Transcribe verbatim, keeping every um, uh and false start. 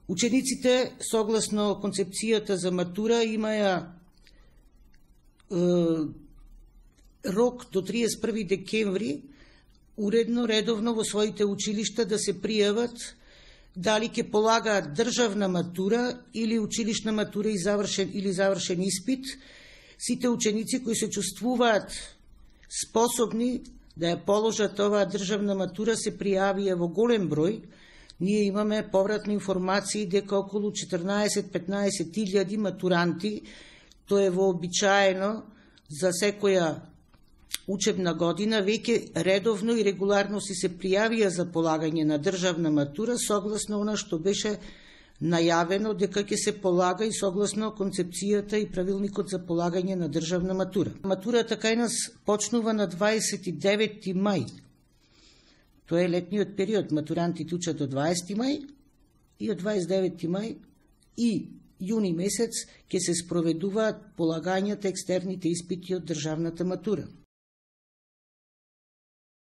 Учениците, согласно концепцијата за матура, имаја е, рок до триесет и први декември уредно, редовно во своите училишта да се пријават дали ќе полагаат државна матура или училишна матура и завршен или завршен испит. Сите ученици кои се чувствуваат способни да ја положат оваа државна матура се пријавија во голем број. Ние имаме повратни информации дека околу четрнаесет до петнаесет илјади матуранти, тоа е вообичаено за секоја учебна година, веќе редовно и регуларно си се пријавија за полагање на државна матура, согласно она што беше најавено дека ќе се полага и согласно концепцијата и правилникот за полагање на државна матура. Матурата кај нас почнува на дваесет и девети мај. Тоа е летниот период. Матурантите учат до дваесети мај и од дваесет и девети мај и јуни месец ќе се спроведуваат полагањата екстерните испити од државната матура.